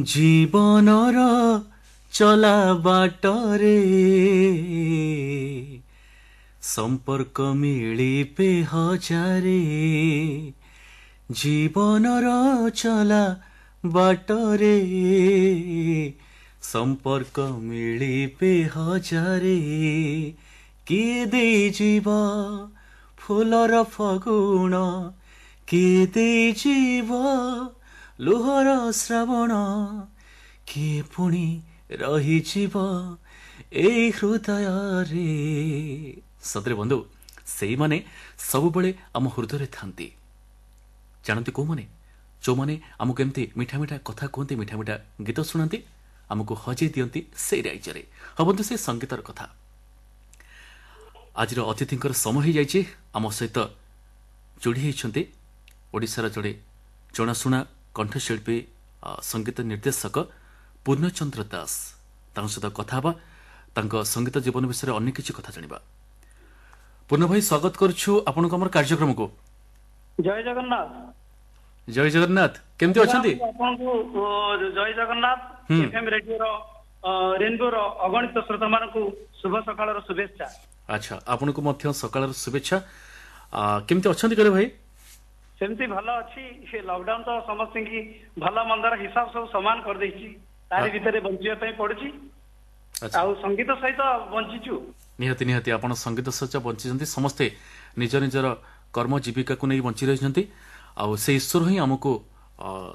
ଜୀବନର ଚଲା ବାଟରେ ସମ୍ପର୍କ ମିଳିବେ ହଜାରେ, ଜୀବନର ଚଲା ବାଟରେ ସମ୍ପର୍କ ମିଳିବେ ହଜାରେ, କିଏ ଦେଇଯିବ ଫୁଲର ଫଗୁଣ, କିଏ ଦେଇଯିବ ଲୁହର ଶ୍ରାବଣ, କିଏ ପୁଣି ରହିଯିବ ଏଇ ହୃଦୟରେ। ସତରେ ବନ୍ଧୁ, ସେଇମାନେ ସବୁବେଳେ ଆମ ହୃଦୟରେ ଥାନ୍ତି। ଜାଣନ୍ତି କୋଉମାନେ? ଯେଉଁମାନେ ଆମକୁ ଏମିତି ମିଠା ମିଠା କଥା କୁହନ୍ତି, ମିଠା ମିଠା ଗୀତ ଶୁଣାନ୍ତି, ଆମକୁ ହଜେଇ ଦିଅନ୍ତି ସେଇ ରାଇଜରେ। ହଁ ବନ୍ଧୁ, ସେ ସଙ୍ଗୀତର କଥା। ଆଜିର ଅତିଥିଙ୍କର ସମୟ ହେଇଯାଇଛି। ଆମ ସହିତ ଯୋଡ଼ି ହେଇଛନ୍ତି ଓଡ଼ିଶାର ଜଣେ ଜଣାଶୁଣା କଣ୍ଠଶିଳ୍ପୀ, ସଙ୍ଗୀତ ନିର୍ଦ୍ଦେଶକ ପୂର୍ଣ୍ଣଚନ୍ଦ୍ର ଦାସ। ତାଙ୍କ ସହିତ କଥା ହେବା, ତାଙ୍କ ସଙ୍ଗୀତ ଜୀବନ ବିଷୟରେ ଅନେକ କିଛି କଥା ଜାଣିବା। ପୂର୍ଣ୍ଣ ଭାଇ, ସ୍ୱାଗତ କରୁଛୁ ଆପଣଙ୍କୁ ଆମର କାର୍ଯ୍ୟକ୍ରମକୁ। ଜୟ ଜଗନ୍ନାଥ। ଜୟ ଜଗନ୍ନାଥ, କେମିତି ଅଛନ୍ତି? ଆପଣଙ୍କୁ ଜୟ ଜଗନ୍ନାଥ। ଏଫଏମ ରେଡିଓର ରେନବୋର ଅଗଣିତ ଶ୍ରୋତାମାନଙ୍କୁ ଶୁଭ ସକାଳର ଶୁଭେଚ୍ଛା। ଆଚ୍ଛା, ଆପଣଙ୍କୁ ମଧ୍ୟ ସକାଳର ଶୁଭେଚ୍ଛା। କେମିତି ଅଛନ୍ତି କହିଲେ ଭାଇ? ସେମିତି ଭଲ ଅଛି। ସେ ଲକଡାଉନ ତ ସମସ୍ତଙ୍କୁ ଭଲ ମନ୍ଦର ହିସାବ ସବୁ ସମାନ କରିଦେଇଛି। ତାରି ଭିତରେ ବଞ୍ଚିବା ପାଇଁ ପଡୁଛି ଆଉ ସଙ୍ଗୀତ ସହିତ ବଞ୍ଚିଛୁ। ନିହାତି ନିହାତି, ଆପଣ ସଙ୍ଗୀତ ସହିତ ବଞ୍ଚିଛନ୍ତି। ସମସ୍ତେ ନିଜ ନିଜର କର୍ମ ଜୀବିକାକୁ ନେଇ ବଞ୍ଚି ରହିଛନ୍ତି, ଆଉ ସେ ଈଶ୍ୱର ହିଁ ଆମକୁ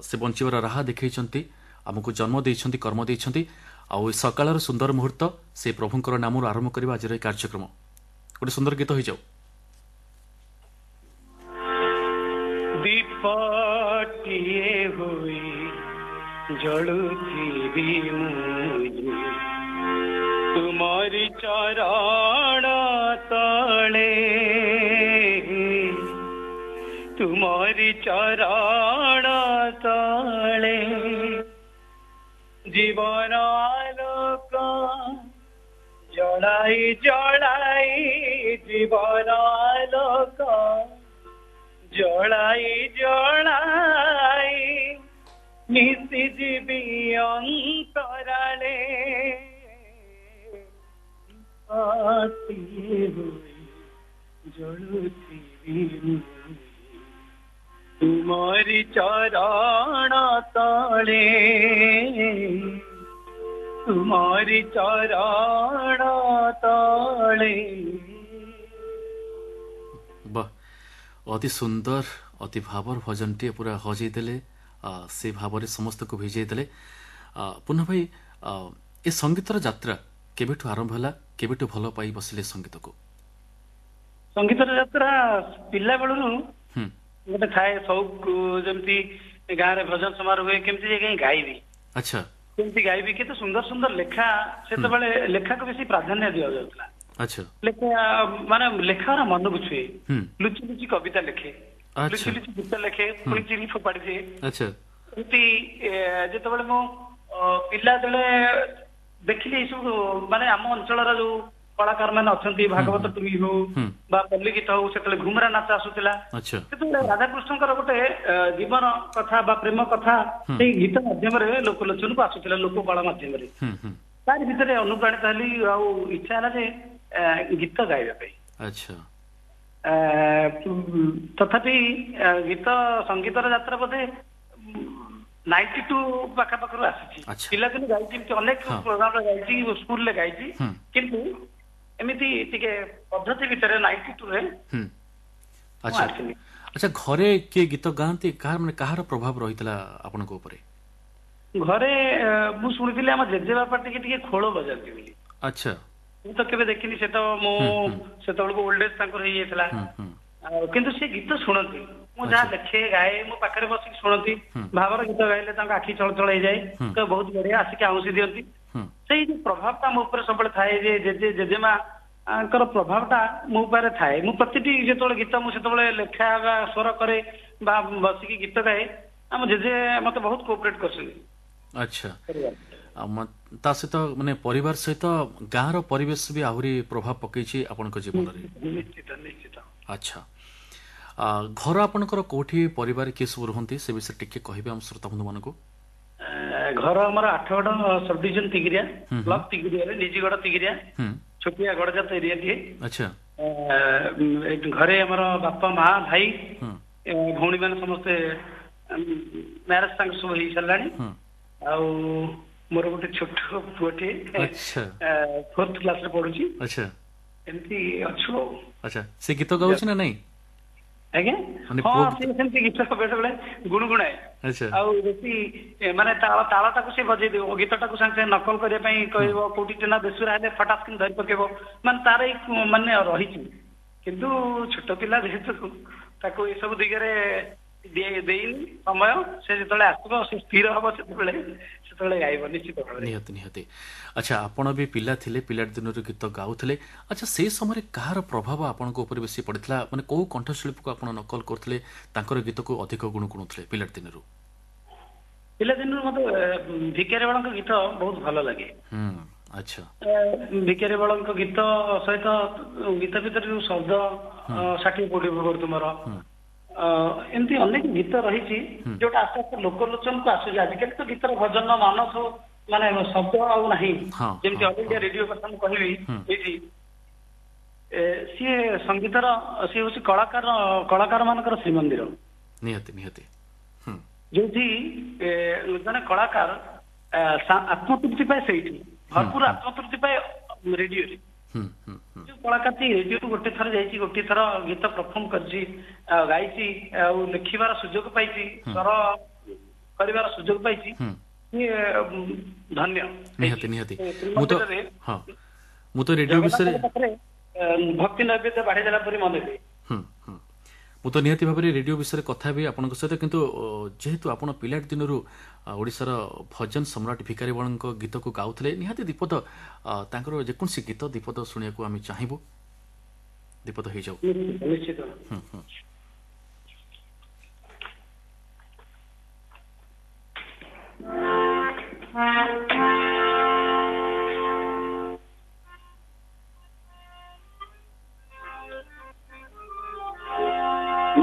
ସେ ବଞ୍ଚିବାର ରାହା ଦେଖେଇଛନ୍ତି, ଆମକୁ ଜନ୍ମ ଦେଇଛନ୍ତି, କର୍ମ ଦେଇଛନ୍ତି। ଆଉ ଏ ସକାଳର ସୁନ୍ଦର ମୁହୂର୍ତ୍ତ ସେ ପ୍ରଭୁଙ୍କର ନାମରୁ ଆରମ୍ଭ କରିବା ଆଜିର ଏହି କାର୍ଯ୍ୟକ୍ରମ। ଗୋଟେ ସୁନ୍ଦର ଗୀତ ହେଇଯାଉ। ଦୀପଟିଏ ହୋଇ ଜଳୁଥିବି ମୁଁ ତୁମରି ଚରଣ ତଳେ, ତୁମରି ଚରଣ ତଳେ, ଜୀବନ ଆଲୋକ ଜଳାଇ ଜଳାଇ, ଜୀବନ ଆଲୋକ ଜଳାଇ ଜଳାଇ ମିଶିଯିବି ଅନ୍ତରାଳେ, ହୋଇ ଜଳୁଥିବି ତୁମରି ଚରଣ ତଳେ, ତୁମରି ଚରଣ ତଳେ। ବାহ, ଅତି ସୁନ୍ଦର, ଅତି ଭାବର ଭଜନଟିଏ। ପୁରା ହଜେଇ ଦେଲେ, ସେ ଭାବରେ ସମସ୍ତଙ୍କୁ ଭିଜେଇ ଦେଲେ। ପୂର୍ଣ୍ଣ ଭାଇ, ଏ ସଙ୍ଗୀତର ଯାତ୍ରା କେବେଠୁ ଆରମ୍ଭ ହେଲା? କେବେଠୁ ଭଲ ପାଇ ବସିଲେ ସଙ୍ଗୀତକୁ? ସଙ୍ଗୀତର ଯାତ୍ରା ପିଲା ବେଳରୁ ଗୋଟେ ଥାଏ ସଉକ। ଯେମିତି ଗାଁରେ ଭଜନ ସମାରୋହ ହୁଏ, କେମିତି ଯାଇ ଗାଇବି। ଆଚ୍ଛା କେମିତି ଗାଇବି, କେତେ ସୁନ୍ଦର ସୁନ୍ଦର ଲେଖା। ସେତେବେଳେ ଲେଖାକୁ ବେଶୀ ପ୍ରାଧାନ୍ୟ ଦିଆଯାଉଥିଲା। ଆଚ୍ଛା ଲେଖା ମାନେ ଲେଖାର ମନକୁ ଛୁଏ। ଲୁଚି ଲୁଚି କବିତା ଲେଖେ, ଲୁଚି ଲୁଚି ଗୀତ ଲେଖେ, ପୁଣି ଚିରି ଫୋପାଡ଼ି ଦିଏ। ଏମିତି ଯେତେବେଳେ ମୁଁ ପିଲା ଯେତେବେଳେ ଦେଖିଲି ଏଇ ସବୁ, ମାନେ ଆମ ଅଞ୍ଚଳର ଯୋଉ କଳାକାର ମାନେ ଅଛନ୍ତି, ଭାଗବତ ଟୁଙ୍ଗି ହଉ ବା ପଲ୍ଲୀ ଗୀତ ହଉ, ସେତେବେଳେ ଘୁମରା ନାଚ ଆସୁଥିଲା, ସେତେବେଳେ ରାଧାକୃଷ୍ଣଙ୍କର ଗୋଟେ ଜୀବନ କଥା ବା ପ୍ରେମ କଥା ସେଇ ଗୀତ ମାଧ୍ୟମରେ ଲୋକଲୋଚନକୁ ଆସୁଥିଲା, ଲୋକ କଳା ମାଧ୍ୟମରେ। ତାରି ଭିତରେ ଅନୁପ୍ରାଣିତ ହେଲି ଆଉ ଇଚ୍ଛା ହେଲା ଯେ ଗୀତ ଗାଇବା ପାଇଁ। ତଥାପି ଗୀତ ସଙ୍ଗୀତର ଯାତ୍ରା ବୋଧେ 92 ପାଖାପାଖରୁ ଆସିଛି। ପିଲାଦିନୁ ଗାଇଛି, ଏମିତି ଅନେକ ପ୍ରୋଗ୍ରାମରେ ଗାଇଛି, ସ୍କୁଲରେ ଗାଇଛି, କିନ୍ତୁ ଏମିତି ଟିକେ ପଦ୍ଧତି ଭିତରେ 92ରେ। ଆଚ୍ଛା ଆଚ୍ଛା, ଘରେ କିଏ ଗୀତ ଗାଆନ୍ତି? କାହାର, ମାନେ କାହାର ପ୍ରଭାବ ରହିଥିଲା ଆପଣଙ୍କ ଉପରେ? ଘରେ ମୁଁ ଶୁଣିଥିଲି ଆମ ଜେଜେବାପା ଟିକେ ଟିକେ ଖୋଳ ବଜାନ୍ତି ବୋଲି। ଆଚ୍ଛା ମୁଁ ତ କେବେ ଦେଖିନି, ସେ ତ ମୁଁ ସେତେବେଳକୁ ଓଲ୍ଡ ଏଜ୍ ତାଙ୍କର ହେଇଯାଇଥିଲା, କିନ୍ତୁ ସେ ଗୀତ ଶୁଣନ୍ତି। ମୁଁ ଯାହା ଲେଖେ ଗାଏ, ମୋ ପାଖରେ ବସିକି ଶୁଣନ୍ତି। ଭାବର ଗୀତ ଗାଇଲେ ତାଙ୍କ ଆଖି ଚଳଚଳ ହେଇଯାଏ, ତ ବହୁତ ବଢିଆ, ଆସିକି ଆଉଁସି ଦିଅନ୍ତି। ସେଇ ଯୋଉ ପ୍ରଭାବଟା ମୋ ଉପରେ ସବୁବେଳେ ଥାଏ ଯେ ଜେଜେ ଜେଜେମାଙ୍କର ପ୍ରଭାବଟା ମୋ ଉପରେ ଥାଏ। ମୁଁ ପ୍ରତିଟି ଯେତେବେଳେ ଗୀତ ମୁଁ ସେତେବେଳେ ଲେଖା ବା ସ୍ୱର କରେ ବା ବସିକି ଗୀତ ଗାଏ, ଆମ ଜେଜେ ମତେ ବହୁତ କୋଅପରେଟ କରିଛନ୍ତି। ଆଚ୍ଛା, ତା ସହିତ ମାନେ ପରିବାର ସହିତ ଗାଁର ପରିବେଶ ବି ଆହୁରି ପ୍ରଭାବ ପକେଇଛି ଆପଣଙ୍କ ଜୀବନରେ? ନିଶ୍ଚିତ ନିଶ୍ଚିତ। ଆଚ୍ଛା, ଘର ଆପଣଙ୍କର କୋଉଠି, ପରିବାର କିଏ ସବୁ ରୁହନ୍ତି, ସେ ବିଷୟରେ ଟିକେ କହିବେ ଆମ ଶ୍ରୋତା ବନ୍ଧୁମାନଙ୍କୁ? ଘର ଆମର Athagarh sub division Tigiria block, ତିଗିରିଆରେ ନିଜିଗଡ଼ ତିଗିରିଆ, ଛୋଟିଆ ଗଡ଼ଜାତ ଏରିଆଟିଏ। ଆଚ୍ଛା। ଘରେ ଆମର ବାପା, ମା, ଭାଇ, ଭଉଣୀ ମାନେ ସମସ୍ତେ ମ୍ୟାରେଜ ତାଙ୍କ ସବୁ ହେଇସାରିଲାଣି। ଆଉ ମୋର ଗୋଟେ ଛୋଟ ପୁଅଟିଏ ଫୋର୍ଥ କ୍ଲାସରେ ପଢୁଛି। ଆଚ୍ଛା। ଏମିତି ଅଛୁ ଆଉ। ଆଚ୍ଛା, ସେ ଗୀତ ଗାଉଛି ନା ନାଇଁ? ଆଜ୍ଞା ହଁ, ସେ ସେମିତି ଗୀତ ବେଳେ ବେଳେ ଗୁଣୁଗୁଣାଏ। ଆଉ ବେଶୀ ମାନେ ତାଳ ତାଳଟାକୁ ସେ ବଜେଇ ଦେବ, ଗୀତଟାକୁ ସାଙ୍ଗେ ସାଙ୍ଗେ ନକଲ କରିବା ପାଇଁ କହିବ। କୋଉଠି ନା ବେସୁରା ହେଲେ ଫଟାସ କିନି ଧରି ପକେଇବ। ମାନେ ତାର ଏଇ ମାନେ ରହିଛି, କିନ୍ତୁ ଛୋଟ ପିଲା ଯେହେତୁ ତାକୁ ଏସବୁ ଦିଗରେ ଦେଇନି ସମୟ। ସେ ଯେତେବେଳେ ଆସିବ, ସେ ସ୍ଥିର ହବ ସେତେବେଳେ, ସେତେବେଳେ ଗାଇବ ନିଶ୍ଚିତ ଭାବରେ। ନିହାତି ନିହାତି। ଆଚ୍ଛା, ଆପଣ ବି ପିଲା ଥିଲେ, ପିଲାଟି ଦିନରୁ ଗୀତ ଗାଉଥିଲେ। ଆଚ୍ଛା, ସେଇ ସମୟରେ କାହାର ପ୍ରଭାବ ଆପଣଙ୍କ ଉପରେ ବେଶୀ ପଡ଼ିଥିଲା? ମାନେ କୋଉ କଣ୍ଠଶିଳ୍ପୀକୁ ଆପଣ ନକଲ କରୁଥିଲେ, ତାଙ୍କର ଗୀତକୁ ଅଧିକ ଗୁଣୁଗୁଣୁଥିଲେ ପିଲାଟି ଦିନରୁ? ପିଲାଦିନରୁ ମତେ ଭିକାରୀ ବଳଙ୍କ ଗୀତ ବହୁତ ଭଲ ଲାଗେ। ଆଚ୍ଛା। ଭିକାରୀ ବଳଙ୍କ ଗୀତ ସହିତ ଗୀତ ଭିତରେ ଯୋଉ ଶବ୍ଦ, 60 କୋଟି ତୁମର, ଏମିତି ଅନେକ ଗୀତ ରହିଛି ଯୋଉଟା ଆସ୍ତେ ଆସ୍ତେ ଲୋକଲୋଚନକୁ ଆସୁଛି। ଆଜିକାଲି ତ ଗୀତର ଭଜନ ମାନ ସବୁ ମାନେ ଶବ୍ଦ ଆଉ ନାହିଁ। ଯେମିତି ଅଲ୍ ଇଣ୍ଡିଆ ରେଡିଓ କଥା ମୁଁ କହିବି ଏଇଠି, ସିଏ ସଙ୍ଗୀତର, ସିଏ ହଉଛି କଳାକାର, କଳାକାର ମାନଙ୍କର ଶ୍ରୀମନ୍ଦିର। ନିହାତି ନିହାତି। ଯୋଉଠି ଜଣେ କଳାକାର ଆତ୍ମତୃପ୍ତି ପାଏ, ସେଇଠି ଭରପୁର ଆତ୍ମତୃପ୍ତି ପାଏ ରେଡିଓରେ। ଯୋଉ କଳାକାରଟି ରେଡିଓକୁ ଗୋଟେ ଥର ଯାଇଛି, ଗୋଟିଏ ଥର ଗୀତ ପରଫର୍ମ କରିଛି, ଗାଇଛି, ଆଉ ଲେଖିବାର ସୁଯୋଗ ପାଇଛି, ସ୍ୱର କରିବାର ସୁଯୋଗ ପାଇଛି, ସିଏ ଧନ୍ୟ। ନିହାତି ନିହାତି। ମୁଁ ତ ହଁ, ମୁଁ ତ ରେଡିଓ ବିଷୟରେ ଭକ୍ତି ନୈବେଦ୍ୟ ବାଢି ଦେଲା ପରି ମନେ ହୁଏ। ମୁଁ ତ ନିହାତି ଭାବରେ ରେଡିଓ ବିଷୟରେ କଥା ହେବି ଆପଣଙ୍କ ସହିତ, କିନ୍ତୁ ଯେହେତୁ ଆପଣ ପିଲାଟି ଦିନରୁ ଓଡ଼ିଶାର ଭଜନ ସମ୍ରାଟ ଭିକାରୀ ବଳଙ୍କ ଗୀତକୁ ଗାଉଥିଲେ, ନିହାତି ଦୀପଦ ତାଙ୍କର ଯେକୌଣସି ଗୀତ ଦୀପଦ ଶୁଣିବାକୁ ଆମେ ଚାହିଁବୁ। ଦୀପଦ ହେଇଯାଉ। ନିଶ୍ଚିତ।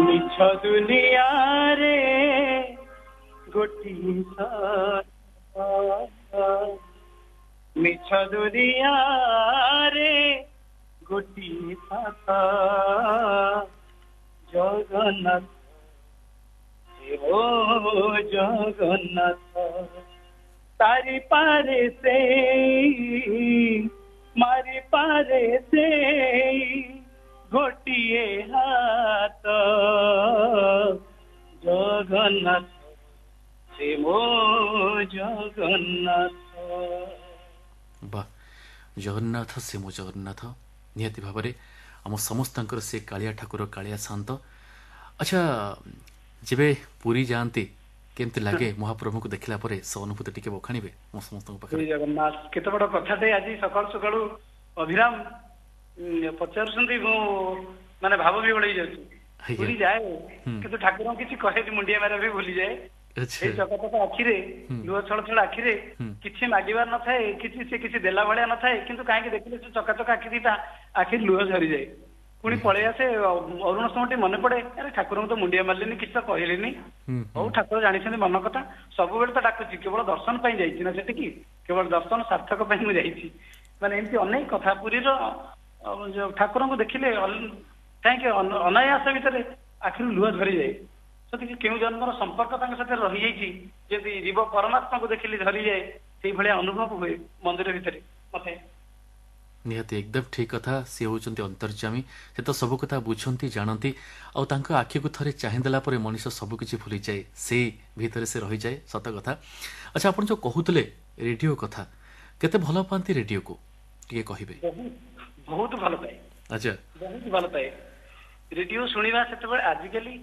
ମିଛ ଦୁନିଆରେ ଗୋଟିଏ, ମିଛ ଦୁନିଆରେ ଗୋଟିଏ ସାଥ, ଜଗନ୍ନାଥ ଓ ଜଗନ୍ନାଥ। ତାରି ପାରେ ସେ, ମାରି ପାରେ ସେ ଗୋଟିଏ ହାତ, ଜଗନ୍ନାଥ ସେ ମୋ ଜଗନ୍ନାଥ। ବାহ, ଜଗନ୍ନାଥ ସେ ମୋ ଜଗନ୍ନାଥ। ନିହାତି ଭାବରେ ଆମ ସମସ୍ତଙ୍କର ସେ କାଳିଆ ଠାକୁର, କାଳିଆ ଶାନ୍ତ। ଆଚ୍ଛା, ଯେବେ ପୁରୀ ଯାଆନ୍ତି କେମିତି ଲାଗେ ମହାପ୍ରଭୁଙ୍କୁ ଦେଖିଲା ପରେ? ସେ ଅନୁଭୂତି ଟିକେ ବଖାଣିବେ ମୋ ସମସ୍ତଙ୍କ ପାଖରେ। ଜଗନ୍ନାଥ, କେତେ ବଡ କଥାଟେ ଆଜି ସକାଳୁ ସକାଳୁ ଅଭିରାମ ପଚାରୁଛନ୍ତି, ମୁଁ ମାନେ ଭାବ ବିହ୍ୱଳ ହେଇଯାଉଛି। ପୁରୀ ଯାଏ, କିନ୍ତୁ ଠାକୁରଙ୍କୁ କିଛି କହେନି, ମୁଣ୍ଡିଆ ମାରିବା ବି ଭୁଲିଯାଏ। ସେଇ ଚକଚକ ଆଖିରେ, ଲୁହ ଛଳ ଛଳ ଆଖିରେ, କିଛି ମାଗିବାର ନଥାଏ, କିଛି ସେ କିଛି ଦେଲା ଭଳିଆ ନଥାଏ, କିନ୍ତୁ କାହିଁକି ଦେଖିଲେ ସେ ଚକାଚକ ଆଖି ଦିଟା, ଆଖିରେ ଲୁହ ଝରିଯାଏ। ପୁଣି ପଳେଇ ଆସେ। ଅରୁଣ ସ୍ତମ୍ଭଟି ମନେ ପଡେ, ଆରେ ଠାକୁରଙ୍କୁ ତ ମୁଣ୍ଡିଆ ମାରିଲିନି, କିଛି ତ କହିଲିନି। ହଉ, ଠାକୁର ଜାଣିଛନ୍ତି ମନ କଥା। ସବୁବେଳେ ତ ଡାକୁଛି, କେବଳ ଦର୍ଶନ ପାଇଁ ଯାଇଛି ନା ସେଠିକି? କେବଳ ଦର୍ଶନ ସାର୍ଥକ ପାଇଁ ମୁଁ ଯାଇଛି। ମାନେ ଏମିତି ଅନେକ କଥା। ପୁରୀର ଠାକୁରଙ୍କୁ ଦେଖିଲେ କାହିଁକି ଅନାୟାସ ଭିତରେ ଆଖିରୁ ଲୁହ ଝରିଯାଏ। ସେତିକି କେଉଁ ଜନ୍ମର ସମ୍ପର୍କ ତାଙ୍କ ସାଥିରେ ରହିଯାଇଛି। ଯେମିତି ଜୀବ ପରମାତ୍ମାକୁ ଦେଖିଲେ ଝରିଯାଏ, ସେଇଭଳିଆ ଅନୁଭବ ହୁଏ ମନ୍ଦିର ଭିତରେ ମତେ। ନିହାତି, ଏକଦମ ଠିକ କଥା। ସିଏ ହେଉଛନ୍ତି ଅନ୍ତର୍ଯାମୀ, ସେ ତ ସବୁ କଥା ବୁଝନ୍ତି, ଜାଣନ୍ତି। ଆଉ ତାଙ୍କ ଆଖିକୁ ଥରେ ଚାହିଁଦେଲା ପରେ ମଣିଷ ସବୁକିଛି ଭୁଲିଯାଏ, ସେଇ ଭିତରେ ସେ ରହିଯାଏ। ସତ କଥା। ଆଚ୍ଛା, ଆପଣ ଯୋଉ କହୁଥିଲେ ରେଡିଓ କଥା, କେତେ ଭଲ ପାଆନ୍ତି ରେଡିଓକୁ ଟିକେ କହିବେ? ବହୁତ ଭଲ ପାଏ। ଆଚ୍ଛା। ବହୁତ ଭଲ ପାଏ ରେଡିଓ ଶୁଣିବା। ସେତେବେଳେ, ଆଜିକାଲି,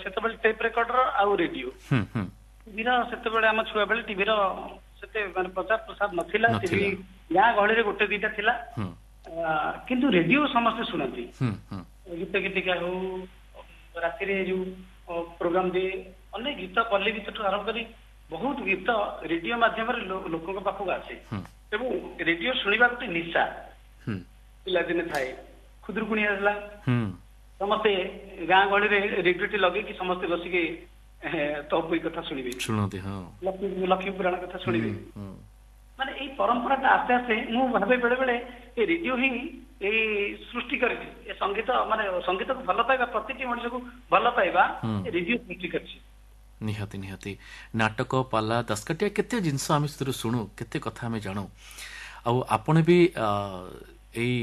ସେତେବେଳେ ଟେପ୍ ରେକର୍ଡର ଆଉ ରେଡିଓ, ଟିଭିର ସେତେବେଳେ ଆମ ଛୁଆ ବେଳେ ଟିଭିର ସେତେ ମାନେ ପ୍ରଚାର ପ୍ରସାର ନଥିଲା। ଟିଭି ଗାଁ ଗହଳିରେ ଗୋଟେ ଦିଟା ଥିଲା, କିନ୍ତୁ ରେଡିଓ ସମସ୍ତେ ଶୁଣନ୍ତି। ଗୀତ ଗୀତିକା ହଉ, ରାତିରେ ଯୋଉ ପ୍ରୋଗ୍ରାମ ଦିଏ, ଅନେକ ଗୀତ, ପଲ୍ଲୀ ଗୀତଠୁ ଆରମ୍ଭ କରି ବହୁତ ଗୀତ ରେଡିଓ ମାଧ୍ୟମରେ ଲୋକଙ୍କ ପାଖକୁ ଆସେ। ଏବଂ ରେଡିଓ ଶୁଣିବା ଗୋଟେ ନିଶା ପିଲାଦିନେ ଥାଏ। ଖୁଦୁରୁକୁଣୀ ଆସିଲା, ସମସ୍ତେ ଗାଁ ଗହଳିରେ ରେଡିଓଟି ଲଗେଇକି ସମସ୍ତେ ବସିକି ତପୋଇ କଥା ଶୁଣିବେ, ଶୁଣନ୍ତି, ହଁ, ଲକ୍ଷ୍ମୀ ପୁରାଣ କଥା ଶୁଣିବେ। ମାନେ ଏଇ ପରମ୍ପରାଟା ଆସ୍ତେ ଆସ୍ତେ ମୁଁ ଭାବେ ବେଳେ ବେଳେ ଏ ରେଡିଓ ହିଁ ଏଇ ସୃଷ୍ଟି କରିଛି ଏ ସଙ୍ଗୀତ, ମାନେ ସଙ୍ଗୀତକୁ ଭଲ ପାଇବା, ପ୍ରତିଟି ମଣିଷକୁ ଭଲ ପାଇବା ଏ ରେଡିଓ ସୃଷ୍ଟି କରିଛି। ନିହାତି ନିହାତି। ନାଟକ, ପାଲା, ଦାସକାଠିଆ, କେତେ ଜିନିଷ ଆମେ ସେଥିରୁ ଶୁଣୁ, କେତେ କଥା ଆମେ ଜାଣୁ। ଆଉ ଆପଣ ବି ଏଇ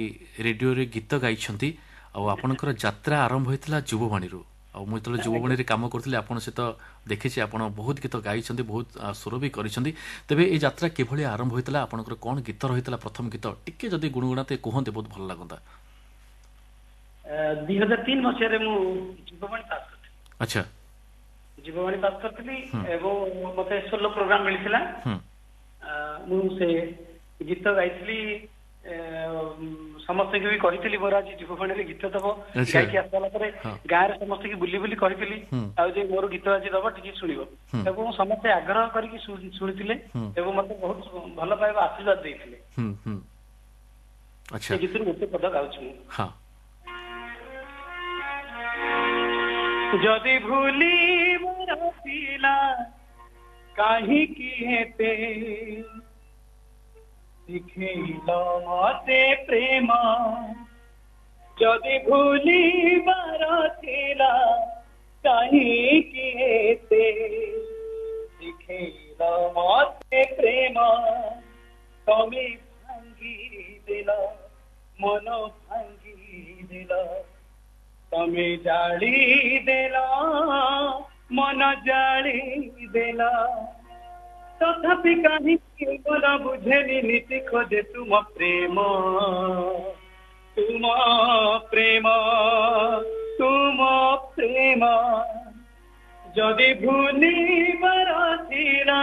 ରେଡିଓରେ ଗୀତ ଗାଇଛନ୍ତି, ଆଉ ଆପଣଙ୍କର ଯାତ୍ରା ଆରମ୍ଭ ହୋଇଥିଲା ଯୁବବାଣୀରୁ। ଆଉ ମୁଁ ଯେତେବେଳେ ଯୁବବାଣୀରେ କାମ କରୁଥିଲି ଆପଣ ସହିତ ଦେଖିଛି, ଆପଣ ବହୁତ ଗୀତ ଗାଇଛନ୍ତି, ବହୁତ ସ୍ୱର ବି କରିଛନ୍ତି। ତେବେ ଏଇ ଯାତ୍ରା କିଭଳି ଆରମ୍ଭ ହୋଇଥିଲା, ଆପଣଙ୍କର କ'ଣ ଗୀତ ରହିଥିଲା ପ୍ରଥମ ଗୀତ, ଟିକେ ଯଦି ଗୁଣୁଗୁଣାତେ କୁହନ୍ତେ ବହୁତ ଭଲ ଲାଗନ୍ତା। 2003 ମସିହାରେ ମୁଁ ଯୁବବାଣୀ ପାସ୍ କରିଥିଲି। ଆଚ୍ଛା। ଯୁବବାଣୀ ପାସ୍ କରିଥିଲି ଏବଂ ମତେ ସୋଲୋ ପ୍ରୋଗ୍ରାମ ମିଳିଥିଲା। ମୁଁ ସେ ଗୀତ ଗାଇଥିଲି, ସମସ୍ତଙ୍କୁ ବି କହିଥିଲି ମୋର ଆଜି ଯୁବବାଣୀରେ ଗୀତ ଦବ। ଗାଇକି ଆସିଲା ପରେ ଗାଁରେ ସମସ୍ତଙ୍କୁ ବୁଲି ବୁଲି କହିଥିଲି ଆଉ ଯେ ମୋର ଗୀତ ଆଜି ଦବ, ଟିକେ ଶୁଣିବ, ଏବଂ ସମସ୍ତେ ଆଗ୍ରହ କରିକି ଶୁଣିଥିଲେ ଏବଂ ମତେ ବହୁତ ଭଲ ପାଇବା ଆଶୀର୍ବାଦ ଦେଇଥିଲେ। ସେ ଗୀତରୁ ଗୋଟେ ପଦ ଗାଉଛି ମୁଁ। ଯଦି ଭୁଲିବାର ଥିଲା କାହିଁକି ଏତେ ଶିଖେଇଲ ମତେ ପ୍ରେମ, ଯଦି ଭୁଲିବାର ଥିଲା କାହିଁକି ଏତେ ଶିଖେଇଲ ମତେ ପ୍ରେମ, ତମେ ଭାଙ୍ଗିଦେଲ ମନ ଭାଙ୍ଗିଦେଲ, ତମେ ଜାଳି ଦେଲ ମନ ଜାଳି ଦେଲ, ତଥାପି କାହିଁକି ମନ ବୁଝେନି ନୀତି ଖୋଜେ ତୁମ ପ୍ରେମ, ତୁମ ପ୍ରେମ, ତୁମ ପ୍ରେମ। ଯଦି ଭୁଲିବାର ଥିଲା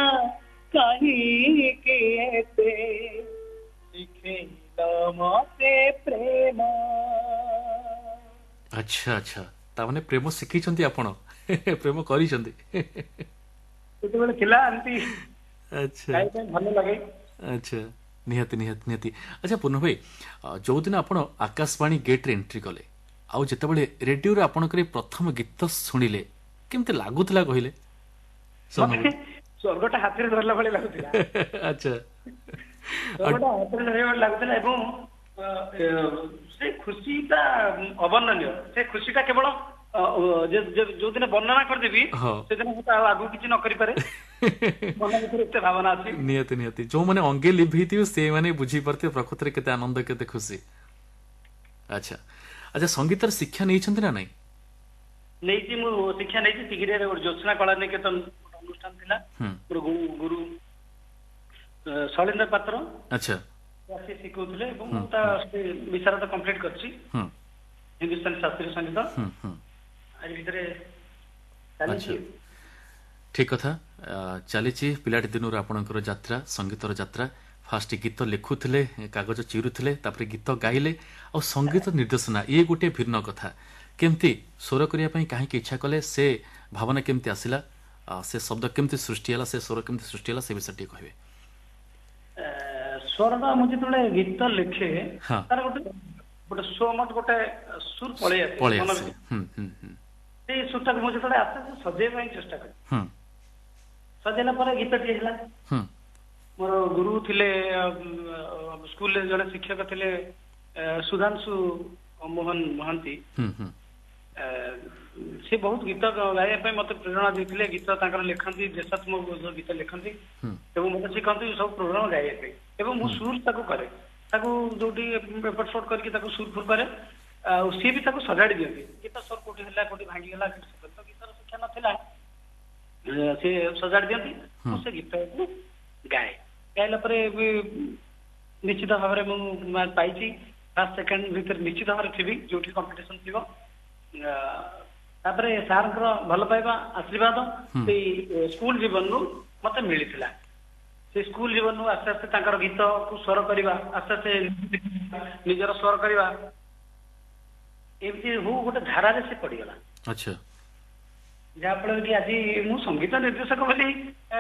କାହିଁକି ଏତେ ଶିଖେଇଲ ମତେ ପ୍ରେମ। ଆଚ୍ଛା ଆଚ୍ଛା, ତାମାନେ ପ୍ରେମ ଶିଖିଛନ୍ତି ଆପଣ, ପ୍ରେମ କରିଛନ୍ତି ସେତେବେଳେ ଥିଲା ଏମିତି। ଆଚ୍ଛା, ଭଲ ଲାଗେ। ଆଚ୍ଛା, ନିହାତି ନିହାତି ନିହାତି। ଆଚ୍ଛା ପୂର୍ଣ୍ଣ ଭାଇ, ଯୋଉଦିନ ଆପଣ ଆକାଶବାଣୀ ଗେଟ୍ରେ ଏଣ୍ଟ୍ରି କଲେ ଆଉ ଯେତେବେଳେ ରେଡିଓରେ ଆପଣଙ୍କର ପ୍ରଥମ ଗୀତ ଶୁଣିଲେ, କେମିତି ଲାଗୁଥିଲା କହିଲେ? ସ୍ୱର୍ଗଟା ହାତରେ ଧରିଲା ଭଳି ଲାଗୁଥିଲା। ଆଚ୍ଛା, ସ୍ୱର୍ଗଟା ହାତରେ ଧରିଲା ଭଳି ଲାଗୁଥିଲା ଏବଂ ସେ ଖୁସିଟା ଅବର୍ଣ୍ଣନୀୟ। ସେ ଖୁସିଟା କେବଳ ଯୋଉଦିନ ବର୍ଣ୍ଣନା କରିଦେବି ସେଦିନ ମୁଁ ଆଉ ଆଗକୁ କିଛି ନ କରିପାରେ, ମନ ଭିତରେ ଏତେ ଭାବନା ଅଛି। ନିହାତି ନିହାତି, ଯୋଉମାନେ ଅଙ୍ଗେ ଲିଭେଇଥିବେ ସେଇମାନେ ବୁଝିପାରୁଥିବେ ପ୍ରକୃତରେ କେତେ ଆନନ୍ଦ, କେତେ ଖୁସି। ଆଚ୍ଛା ଆଚ୍ଛା, ସଙ୍ଗୀତର ଶିକ୍ଷା ନେଇଛନ୍ତି ନା ନାଇଁ? ନେଇଛି, ମୁଁ ଶିକ୍ଷା ନେଇଛି। ତିଗିରିଆରେ ଗୋଟେ ଜ୍ୟୋତ୍ସ୍ନା କଳା ନିକେତନ ଅନୁଷ୍ଠାନ ଥିଲା, ମୋର ଗୁରୁ ଶୈଳେନ୍ଦ୍ର ପାତ୍ର। ଆଚ୍ଛା, ଆସି ଶିଖଉଥିଲେ ଏବଂ ମୁଁ ତା ବିଶାରଦ କମ୍ପ୍ଲିଟ କରିଛି ହିନ୍ଦୁସ୍ତାନୀ ଶାସ୍ତ୍ରୀୟ ସଙ୍ଗୀତ। ଭିତରେ ଚାଲିଛି। ଠିକ କଥା, ଚାଲିଛି ପିଲାଟି ଦିନରୁ ଆପଣଙ୍କର ଯାତ୍ରା, ସଙ୍ଗୀତର ଯାତ୍ରା। ଫାଷ୍ଟ ଗୀତ ଲେଖୁଥିଲେ, କାଗଜ ଚିରୁଥିଲେ, ତାପରେ ଗୀତ ଗାଇଲେ, ଆଉ ସଙ୍ଗୀତ ନିର୍ଦ୍ଦେଶନା ଇଏ ଗୋଟିଏ ଭିନ୍ନ କଥା। କେମିତି ସ୍ୱର କରିବା ପାଇଁ କାହିଁକି ଇଚ୍ଛା କଲେ, ସେ ଭାବନା କେମିତି ଆସିଲା, ସେ ଶବ୍ଦ କେମିତି ସୃଷ୍ଟି ହେଲା, ସେ ସ୍ୱର କେମିତି ସୃଷ୍ଟି ହେଲା, ସେ ବିଷୟରେ ଟିକେ କହିବେ। ସ୍ୱରଟା ମୁଁ ଯେତେବେଳେ ଗୀତ ଲେଖେ ତାର ଗୋଟେ ଗୋଟେ ସ୍ୱମତ ଗୋଟେ ସୁର ପଳେଇ ଆସେ, ପଳେଇ ଆସେ। ସେଇ ସୁରଟାକୁ ମୁଁ ଯେତେବେଳେ ଆସେ ସଜେଇବା ପାଇଁ ଚେଷ୍ଟା କରେ। ସଜେଇଲା ପରେ ଗୀତଟିଏ ହେଲା। ମୋର ଗୁରୁ ଥିଲେ ସ୍କୁଲରେ ଜଣେ ଶିକ୍ଷକ ଥିଲେ ସୁଧାଂଶୁ ମୋହନ ମହାନ୍ତି, ସେ ବହୁତ ଗୀତ ଗାଇବା ପାଇଁ ମତେ ପ୍ରେରଣା ଦେଇଥିଲେ। ଗୀତ ତାଙ୍କର ଲେଖନ୍ତି, ଦେଶାତ୍ମକ ଗୀତ ଲେଖନ୍ତି ଏବଂ ମତେ ଶିଖନ୍ତି ସବୁ ପ୍ରୋଗ୍ରାମ ଗାଇବା ପାଇଁ, ଏବଂ ମୁଁ ସୁର ତାକୁ କରେ, ତାକୁ ଯୋଉଠି ଏପଟ ସେପଟ କରିକି ତାକୁ ସୁର ଫୁର କରେ, ଆଉ ସିଏ ବି ତାକୁ ସଜାଡି ଦିଅନ୍ତି। ଗୀତ ସ୍ୱର କୋଉଠି ହେଲା, କୋଉଠି ଭାଙ୍ଗିଗଲା, ତ ଗୀତର ଶିକ୍ଷା ନଥିଲା, ସିଏ ସଜାଡି ଦିଅନ୍ତି, ମୁଁ ସେ ଗୀତକୁ ଗାଏ। ଗାଇଲା ପରେ ବି ନିଶ୍ଚିତ ଭାବରେ ମୁଁ ପାଇଛି ଫାର୍ଷ୍ଟ ସେକେଣ୍ଡ ଭିତରେ ନିଶ୍ଚିତ ଭାବରେ ଥିବି ଯୋଉଠି କମ୍ପିଟିସନ ଥିବ। ତାପରେ ସାରଙ୍କର ଭଲ ପାଇବା ଆଶୀର୍ବାଦ ସେଇ ସ୍କୁଲ ଜୀବନରୁ ମତେ ମିଳିଥିଲା। ସେ ସ୍କୁଲ ଜୀବନରୁ ଆସ୍ତେ ଆସ୍ତେ ତାଙ୍କର ଗୀତକୁ ସ୍ୱର କରିବା, ଆସ୍ତେ ଆସ୍ତେ ନିଜର ସ୍ୱର କରିବା, ଏମିତି ହଉ ଗୋଟେ ଧାରାରେ ସେ ପଡିଗଲା। ଆଚ୍ଛା, ଯାହାଫଳରେ କି ଆଜି ମୁଁ ସଙ୍ଗୀତ ନିର୍ଦ୍ଦେଶକ ବୋଲି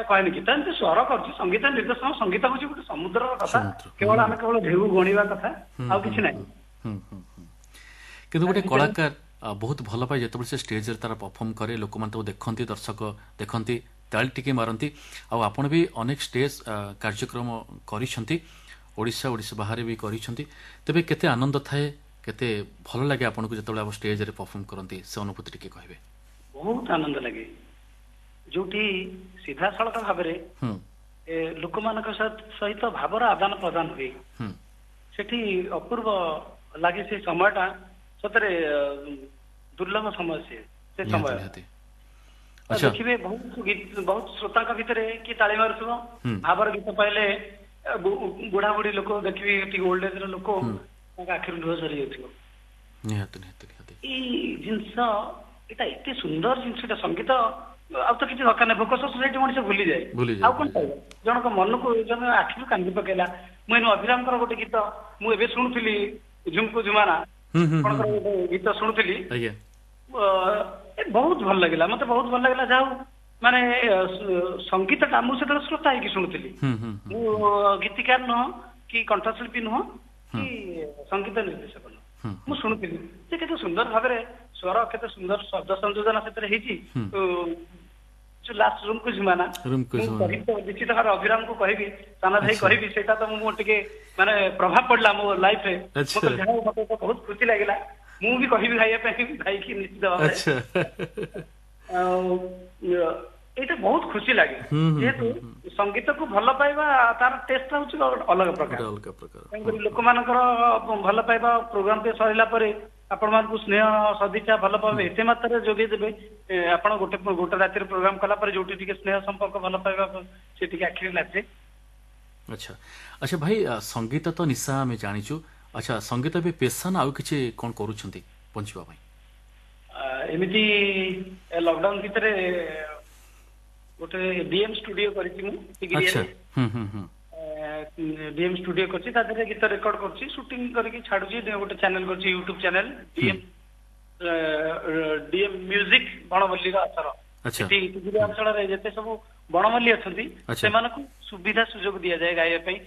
କହେନି, ଗୀତ ଏମିତି ସ୍ୱର କରୁଛି। ସଙ୍ଗୀତ ନିର୍ଦ୍ଦେଶକ, ସଙ୍ଗୀତ ହଉଛି ଗୋଟେ ସମୁଦ୍ରର କଥା, କେବଳ ଆମେ କେବଳ ଢେଉ ଗଣିବା କଥା, ଆଉ କିଛି ନାହିଁ। କିନ୍ତୁ ଗୋଟେ କଳାକାର ବହୁତ ଭଲ ପାଏ ଯେତେବେଳେ ସେ ଷ୍ଟେଜ୍ରେ ତାର ପରଫର୍ମ କରେ, ଲୋକମାନେ ତାକୁ ଦେଖନ୍ତି, ଦର୍ଶକ ଦେଖନ୍ତି, ତାଳି ଟିକେ ମାରନ୍ତି। ଆଉ ଆପଣ ବି ଅନେକ ଷ୍ଟେଜ୍ କାର୍ଯ୍ୟକ୍ରମ କରିଛନ୍ତି, ଓଡ଼ିଶା ଓଡ଼ିଶା ବାହାରେ ବି କରିଛନ୍ତି। ତେବେ କେତେ ଆନନ୍ଦ ଥାଏ, କେତେ ଭଲ ଲାଗେ ଆପଣଙ୍କୁ ଯେତେବେଳେ ଆପଣ ଷ୍ଟେଜ୍ରେ ପରଫର୍ମ କରନ୍ତି, ସେ ଅନୁଭୂତି ଟିକେ କହିବେ? ବହୁତ ଆନନ୍ଦ ଲାଗେ ଯୋଉଠି ସିଧାସଳଖ ଭାବରେ ଲୋକମାନଙ୍କ ସହିତ ଭାବର ଆଦାନ ପ୍ରଦାନ ହୁଏ, ସେଠି ଅପୂର୍ବ ଲାଗେ। ସେ ସମୟଟା ସତରେ ଦୁର୍ଲଭ ସମୟ ସେ ସମୟ। ଦେଖିବେ ବହୁତ ବହୁତ ଶ୍ରୋତାଙ୍କ ଭିତରେ କିଏ ତାଳି ମାରୁଥିବ ଭାବର ଗୀତ ପାଇଲେ, ବୁଢା ବୁଢୀ ଲୋକ ଦେଖିବେ, ଟିକେ ଓଲ୍ଡ ଏଜ ର ଲୋକ, ତାଙ୍କ ଆଖିରୁ ଲୁହ ଝରି ଯାଉଥିବ। ନିହାତି ନିହାତି ନିହାତି। ଏଇ ଜିନିଷ ଏଇଟା ଏତେ ସୁନ୍ଦର ଜିନିଷଟା ସଙ୍ଗୀତ, ଆଉ ତ କିଛି ଦରକାର ନାହିଁ। ଭୋକ ଶୋଷ ସେଇଠି ମଣିଷ ଭୁଲିଯାଏ, ଆଉ କଣ ପାଇବ? ଜଣଙ୍କ ମନକୁ ଜଣେ ଆଖିରୁ କାନ୍ଦି ପକେଇଲା। ମୁଁ ଏଇନୁ ଅଭିରାମଙ୍କର ଗୋଟେ ଗୀତ ମୁଁ ଏବେ ଶୁଣୁଥିଲି, ଝୁମକୁ ଝୁମାନା, ଆପଣଙ୍କର ଗୋଟେ ଗୀତ ଶୁଣୁଥିଲି, ବହୁତ ଭଲ ଲାଗିଲା ମତେ, ବହୁତ ଭଲ ଲାଗିଲା। ଯାହା ହଉ, ମାନେ ସଙ୍ଗୀତଟା ମୁଁ ସେତେବେଳେ ଶ୍ରୋତା ହେଇକି ଶୁଣୁଥିଲି। ମୁଁ ଗୀତିକାର ନୁହଁ କି କଣ୍ଠଶିଳ୍ପୀ ନୁହଁ କି ସଙ୍ଗୀତ ନିର୍ଦ୍ଦେଶକ ନୁହଁ, ମୁଁ ଶୁଣୁଥିଲି ଯେ କେତେ ସୁନ୍ଦର ଭାବରେ ସ୍ୱର, କେତେ ସୁନ୍ଦର ଶବ୍ଦ ସଂଯୋଜନା ସେଥିରେ ହେଇଛି। ଯୋଉ ଲାଷ୍ଟ ରୁମକୁ ଝୁମାନା, ନିଶ୍ଚିତ ଭାବରେ ଅଭିରାମକୁ କହିବି, ସାନ ଭାଇ କହିବି, ସେଇଟା ତ ମୁଁ ଟିକେ ମାନେ ପ୍ରଭାବ ପଡିଲା ମୋ ଲାଇଫରେ। ଯାହା ହଉ, ମତେ ବହୁତ ଖୁସି ଲାଗିଲା। ମୁଁ ବି କହିବି ଗାଇବା ପାଇଁ ଭାଇକି ନିଶ୍ଚିତ ଭାବରେ। ଆଉ ଏଇଟା ବହୁତ ଖୁସି ଲାଗେ, ଯେହେତୁ ସଙ୍ଗୀତକୁ ଭଲ ପାଇବା ତାର ଟେଷ୍ଟ ହଉଛି ଅଲଗା ପ୍ରକାର। ତେଣୁକରି ଲୋକମାନଙ୍କର ଭଲ ପାଇବା, ପ୍ରୋଗ୍ରାମ ଟେ ସରିଲା ପରେ ଆପଣମାନଙ୍କୁ ସ୍ନେହ ସଦିଚ୍ଛା ଭଲ ପାଇବା ଏତେ ମାତ୍ରାରେ ଯୋଗେଇ ଦେବେ, ଆପଣ ଗୋଟେ ଗୋଟେ ରାତିରେ ପ୍ରୋଗ୍ରାମ କଲା ପରେ ଯୋଉଠି ଟିକେ ସ୍ନେହ ସମ୍ପର୍କ ଭଲ ପାଇବା ସେ ଟିକେ ଆଖିରେ ଲାଜେ। ଆଚ୍ଛା ଆଚ୍ଛା ଭାଇ, ସଙ୍ଗୀତ ତ ନିଶା ଆମେ ଜାଣିଛୁ। ଆଚ୍ଛା, ସଙ୍ଗୀତ ଏବେ ପେସା ନା ଆଉ କିଛି କଣ କରୁଛନ୍ତି ବଞ୍ଚିବା ପାଇଁ? ଏମିତି ଲକଡାଉନ ଭିତରେ ଗୋଟେ ଡିଏମ୍ ଷ୍ଟୁଡିଓ କରିଛି ମୁଁ, ଡିଏମ୍ ଷ୍ଟୁଡିଓ କରିଛି, ତା ଦେହରେ ଗୀତ ରେକର୍ଡ କରୁଛି, ସୁଟିଂ କରିକି ଛାଡୁଛି। ଗୋଟେ ଚ୍ୟାନେଲ କରିଛି, ୟୁଟ୍ୟୁବ ଚ୍ୟାନେଲ, ଡିଏମ୍ ମ୍ୟୁଜିକ ବଣମଲ୍ଲୀର ଆସର। ସେଠି ଅଞ୍ଚଳରେ ଯେତେ ସବୁ ବଣମଲ୍ଲୀ ଅଛନ୍ତି ସେମାନଙ୍କୁ ସୁବିଧା ସୁଯୋଗ ଦିଆଯାଏ, ଗାଇବା ପାଇଁ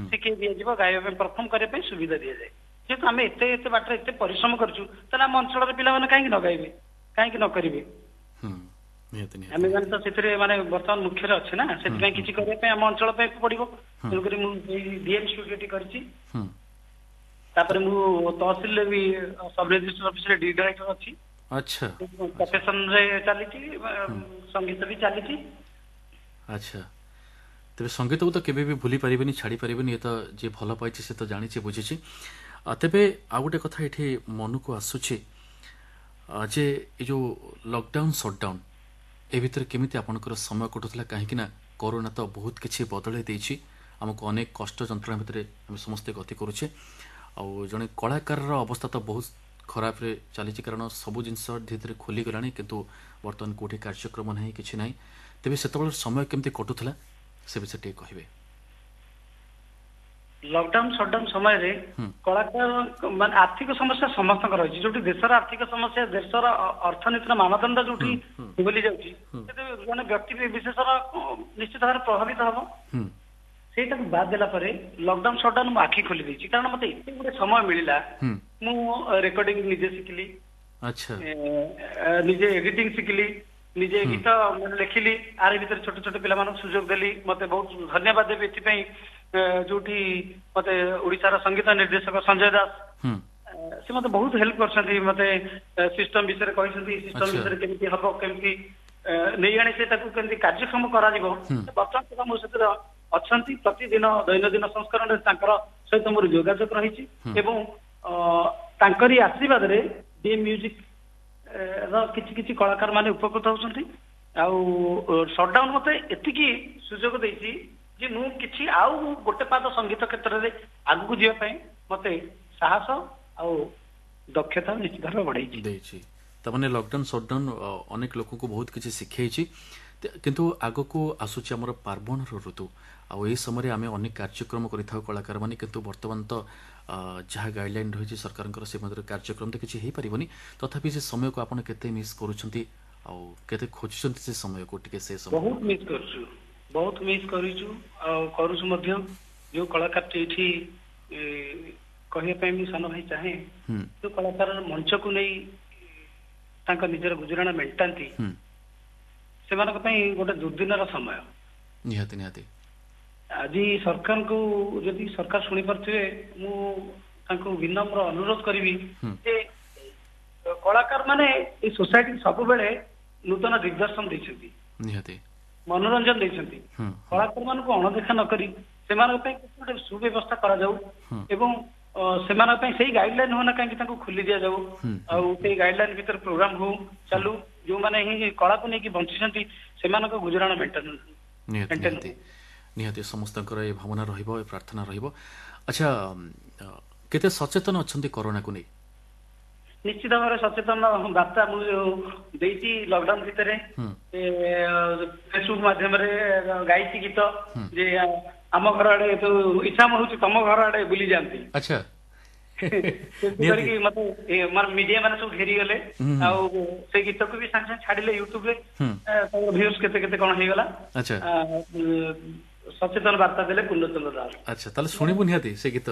ଶିଖେଇ ଦିଆଯିବ, ଗାଇବା ପାଇଁ ପରଫର୍ମ କରିବା ପାଇଁ ସୁବିଧା ଦିଆଯାଏ। ଯେହେତୁ ଆମେ ଏତେ ଏତେ ବାଟରେ ଏତେ ପରିଶ୍ରମ କରିଛୁ, ତାହେଲେ ଆମ ଅଞ୍ଚଳର ପିଲାମାନେ କାହିଁକି ନ ଗାଇବେ, କାହିଁକି ନ କରିବେ? ଆମେ ମାନେ ତ ସେଥିରେ ମାନେ ବର୍ତ୍ତମାନ ମୁଖ୍ୟରେ ଅଛି ନା, ସେଥିପାଇଁ କିଛି କରିବା ପାଇଁ ଆମ ଅଞ୍ଚଳ ପାଇଁ ପଡିବ। ତେଣୁକରି ମୁଁ ଏଇ ଡିଏମ୍ ଷ୍ଟୁଡିଓଟି କରିଛି। ତାପରେ ମୁଁ ତହସିଲରେ ବି ସବ ରେଜିଷ୍ଟର ଅଫିସରେ ଡି ଡାଇରେକ୍ଟର ଅଛି। ଆଚ୍ଛା। ପ୍ରଫେସନରେ ଚାଲିଛି, ସଙ୍ଗୀତ ବି ଚାଲିଛି। ଆଚ୍ଛା, ତେବେ ସଙ୍ଗୀତକୁ ତ କେବେ ବି ଭୁଲି ପାରିବେନି, ଛାଡ଼ି ପାରିବେନି। ଏ ତ ଯିଏ ଭଲ ପାଇଛି ସେ ତ ଜାଣିଛି, ବୁଝିଛି। ତେବେ ଆଉ ଗୋଟେ କଥା ଏଠି ମନକୁ ଆସୁଛି ଯେ ଏ ଯେଉଁ ଲକଡାଉନ ସଟଡାଉନ ଏ ଭିତରେ କେମିତି ଆପଣଙ୍କର ସମୟ କଟୁଥିଲା? କାହିଁକି ନା କରୋନା ତ ବହୁତ କିଛି ବଦଳାଇ ଦେଇଛି ଆମକୁ, ଅନେକ କଷ୍ଟ ଯନ୍ତ୍ରଣା ଭିତରେ ଆମେ ସମସ୍ତେ ଗତି କରୁଛେ। ଆଉ ଜଣେ କଳାକାରର ଅବସ୍ଥା ତ ବହୁତ ଖରାପରେ ଚାଲିଛି, କାରଣ ସବୁ ଜିନିଷ ଧୀରେ ଧୀରେ ଖୋଲିଗଲାଣି, କିନ୍ତୁ ବର୍ତ୍ତମାନ କେଉଁଠି କାର୍ଯ୍ୟକ୍ରମ ନାହିଁ, କିଛି ନାହିଁ। ତେବେ ସେତେବେଳେ ସମୟ କେମିତି କଟୁଥିଲା ସେ ବିଷୟରେ ଟିକେ କହିବେ? ଲକଡାଉନ ସଟଡାଉନ ସମୟରେ କଳାକାର ମାନେ ଆର୍ଥିକ ସମସ୍ୟା ସମସ୍ତଙ୍କର ରହିଛି। ଯୋଉଠି ଦେଶର ଆର୍ଥିକ ସମସ୍ୟା, ଦେଶର ଅର୍ଥନୀତିର ମାନଦଣ୍ଡ ଯୋଉଠି ଭୁଲି ଯାଉଛି, ସେଠି ଜଣେ ବ୍ୟକ୍ତି ବିଶେଷର ନିଶ୍ଚିତ ଭାବରେ ପ୍ରଭାବିତ ହବ। ସେଇଟାକୁ ବାଦ ଦେଲା ପରେ ଲକଡାଉନ ସଟଡାଉନ ମୁଁ ଆଖି ଖୋଲି ଦେଇଛି, କାରଣ ମତେ ଏତେ ଗୁଡେ ସମୟ ମିଳିଲା। ମୁଁ ରେକର୍ଡିଂ ନିଜେ ଶିଖିଲି, ନିଜେ ଏଡିଟିଂ ଶିଖିଲି, ନିଜେ ଗୀତ ଲେଖିଲି, ଆର ଭିତରେ ଛୋଟ ଛୋଟ ପିଲାମାନଙ୍କୁ ସୁଯୋଗ ଦେଲି। ମତେ ବହୁତ ଧନ୍ୟବାଦ ଦେବି ଏଥିପାଇଁ, ଯୋଉଠି ମତେ ଓଡିଶାର ସଙ୍ଗୀତ ନିର୍ଦ୍ଦେଶକ ସଞ୍ଜୟ ଦାସ, ସେ ମତେ ବହୁତ ହେଲ୍ପ କରିଛନ୍ତି। ମତେ ସିଷ୍ଟମ ବିଷୟରେ କହିଛନ୍ତି, ସିଷ୍ଟମ ବିଷୟରେ କେମିତି ହବ, କେମିତି ନେଇ ଆଣି ସେ ତାକୁ କେମିତି କାର୍ଯ୍ୟକ୍ଷମ କରାଯିବ। ବର୍ତ୍ତମାନ ସୁଦ୍ଧା ମୋ ସେଥିରେ ଅଛନ୍ତି, ପ୍ରତିଦିନ ଦୈନନ୍ଦିନ ସଂସ୍କରଣରେ ତାଙ୍କର ସହିତ ମୋର ଯୋଗାଯୋଗ ରହିଛି ଏବଂ ତାଙ୍କରି ଆଶୀର୍ବାଦରେ ଡିଏମ୍ ମ୍ୟୁଜିକ ର କିଛି କିଛି କଳାକାର ମାନେ ଉପକୃତ ହଉଛନ୍ତି। ଆଉ ସଟଡାଉନ ମତେ ଏତିକି ସୁଯୋଗ ଦେଇଛି ଯେ ମୁଁ କିଛି ଆଉ ଗୋଟେ ପାଦ ସଙ୍ଗୀତ କ୍ଷେତ୍ରରେ ଆଗକୁ ଯିବା ପାଇଁ ମତେ ସାହସ ଆଉ ଦକ୍ଷତା ନିଶ୍ଚିତ ଭାବେ ବଢେଇଛି ଦେଇଛି। ତାମାନେ ଲକଡାଉନ ସଟଡାଉନ ଅନେକ ଲୋକଙ୍କୁ ବହୁତ କିଛି ଶିଖେଇଛି। କିନ୍ତୁ ଆଗକୁ ଆସୁଛି ଆମର ପାର୍ବଣର ଋତୁ, ଆଉ ଏହି ସମୟରେ ଆମେ ଅନେକ କାର୍ଯ୍ୟକ୍ରମ କରିଥାଉ କଳାକାରମାନେ। କିନ୍ତୁ ବର୍ତ୍ତମାନ ତ ଯାହା ଗାଇଡଲାଇନ୍ ରହିଛି ସରକାରଙ୍କର, ସେ ମଧ୍ୟରେ କାର୍ଯ୍ୟକ୍ରମ ତ କିଛି ହେଇପାରିବନି। ତଥାପି ସେ ସମୟକୁ ଆପଣ କେତେ ମିସ୍ କରୁଛନ୍ତି ଆଉ କେତେ ଖୋଜୁଛନ୍ତି ସେ ସମୟକୁ ଟିକେ? ସେ ସମୟ ବହୁତ ମିସ୍ କରୁଛୁ, ବହୁତ ମିସ୍ କରିଛୁ ଆଉ କରୁଛୁ ମଧ୍ୟ। ଯୋଉ କଳାକାରଟି ଏଇଠି କହିବା ପାଇଁ ମୁଁ ସାନ ଭାଇ ଚାହେଁ, ଯୋଉ କଳାକାର ମଞ୍ଚକୁ ନେଇ ତାଙ୍କ ନିଜର ଗୁଜୁରାଣ ମେଣ୍ଟାନ୍ତି, ସେମାନଙ୍କ ପାଇଁ ଗୋଟେ ଦୁର୍ଦିନର ସମୟ। ନିହାତି ନିହାତି। ଆଜି ସରକାରଙ୍କୁ, ଯଦି ସରକାର ଶୁଣିପାରୁଥିବେ, ମୁଁ ତାଙ୍କୁ ବିନମ୍ର ଅନୁରୋଧ କରିବି ଯେ କଳାକାର ମାନେ ଏଇ ସୋସାଇଟି ସବୁବେଳେ ନୂତନ ଦିଗ୍ଦର୍ଶନ ଦେଇଛନ୍ତି, ନିହାତି ମନୋରଞ୍ଜନ ଦେଇଛନ୍ତି। କଳାକାର ମାନଙ୍କୁ ଅଣଦେଖା ନ କରି ସେମାନଙ୍କ ପାଇଁ କିଛି ଗୋଟେ ସୁବ୍ୟବସ୍ଥା କରାଯାଉ ଏବଂ ସେମାନଙ୍କ ପାଇଁ ସେଇ ଗାଇଡଲାଇନ ହଉ ନା କାହିଁକି ତାଙ୍କୁ ଖୋଲି ଦିଆଯାଉ, ଆଉ ସେଇ ଗାଇଡଲାଇନ ଭିତରେ ପ୍ରୋଗ୍ରାମ ହଉ ଚାଲୁ। ଯୋଉମାନେ ହିଁ କଳାକୁ ନେଇକି ବଞ୍ଚିଛନ୍ତି ସେମାନଙ୍କ ଗୁଜୁରାଣ ମେଣ୍ଟେନ। ନିହାତି ନିହାତି ନିହାତି, ସମସ୍ତଙ୍କର ଏ ଭାବନା ରହିବ, ଏ ପ୍ରାର୍ଥନା ରହିବ। ଆଚ୍ଛା, କେତେ ସଚେତନ ଅଛନ୍ତି କରୋନାକୁ ନେଇ? ନିଶ୍ଚିତ ଭାବରେ ସଚେତନ ବାର୍ତ୍ତା ମୁଁ ଦେଇଛି ଲକଡାଉନ ଭିତରେ, ଫେସବୁକ୍ ମାଧ୍ୟମରେ ଗାଇଛି ଗୀତ ଯେ ଆମ ଘର ଆଡେ ଇଚ୍ଛା ହଉଛି ତମ ଘର ଆଡେ ବୁଲି ଯାଆନ୍ତି। ଆଚ୍ଛା। କରିକି ମତେ ମିଡିଆ ମାନେ ସବୁ ଘେରିଗଲେ, ଆଉ ସେ ଗୀତକୁ ବି ସାଙ୍ଗେ ସାଙ୍ଗେ ଛାଡିଲେ ୟୁଟ୍ୟୁବରେ, ଭ୍ୟୁଜ କେତେ କେତେ କଣ ହେଇଗଲା। ସଚେତନ ବାର୍ତ୍ତା ଦେଲେ ପୂର୍ଣ୍ଣଚନ୍ଦ୍ର ଦାସ। ଆଚ୍ଛା, ତାହେଲେ ଶୁଣିବୁ ନିହାତି ସେ ଗୀତ।